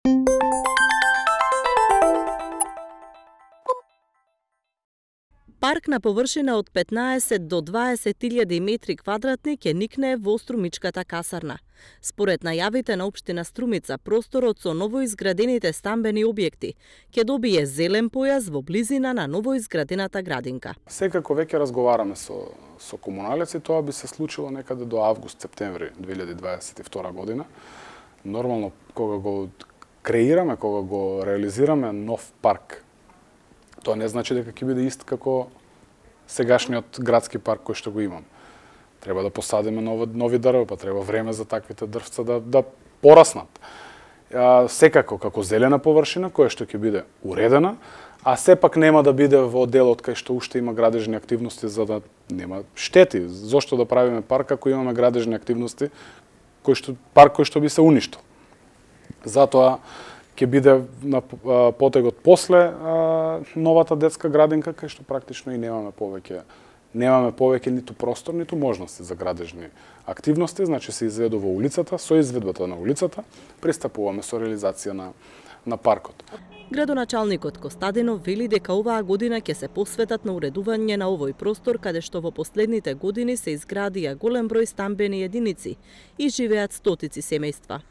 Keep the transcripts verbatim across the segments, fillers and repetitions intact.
Парк на површина од петнаесет до дваесет илјади метри квадратни ќе никне во Струмичката касарна. Според најавите на општина Струмица, просторот со новоизградените стамбени објекти ќе добие зелен појас во близина на новоизградената градинка. Секако веќе разговараме со со комуналеци, тоа би се случило некаде до август-септември две илјади дваесет и втора година. Нормално кога го креираме, кога го реализираме нов парк, тоа не значи дека ќе биде ист како сегашниот градски парк кој што го имам. Треба да посадиме нови, нови дрва, па треба време за таквите дрвца да, да пораснат. А, секако како зелена површина која што ќе биде уредена, а сепак нема да биде во делот кај што уште има градежни активности за да нема штети. Зошто да правиме парк ако имаме градежни активности кој што парк кој што би се уништил. Затоа ќе биде на потегот после а, новата детска градинка, кај што практично и немаме повеќе немаме повеќе ниту простор, ниту можности за градежни активности, значи се изведува улицата, со изведбата на улицата пристапуваме со реализација на на паркот. Градоначалникот Костадинов вели дека оваа година ќе се посветат на уредување на овој простор каде што во последните години се изградија голем број стамбени единици и живеат стотици семејства.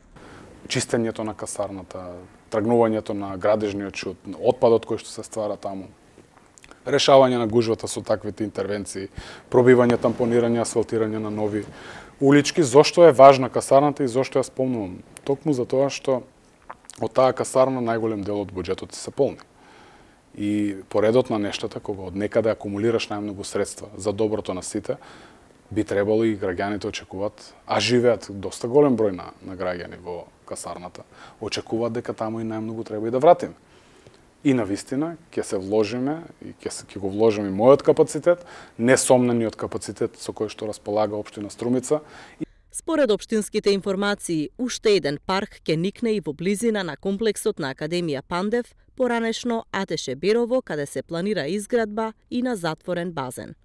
Чистењето на касарната, тргнувањето на градежниот шут, отпадот кој што се ствара таму, решавање на гужвата со таквите интервенции, пробивање, тампонирање, асфалтирање на нови улички. Зошто е важна касарната и зошто ја спомнувам? Токму за тоа што од таа касарна најголем дел од буџетот се полни. И поредот на нештата, кога од некаде акумулираш најмногу средства за доброто на сите, би требало и граѓаните очекуваат, а живеат доста голем број на, на граѓани во касарната, очекуваат дека таму и најмногу треба и да вратиме. И навистина ќе се вложиме и ќе се ќе го вложиме мојот капацитет, несомнениот капацитет со кој што располага општина Струмица. Според општинските информации, уште еден парк ќе никне и во близина на комплексот на Академија Пандев, поранешно Атеше Берово, каде се планира изградба и на затворен базен.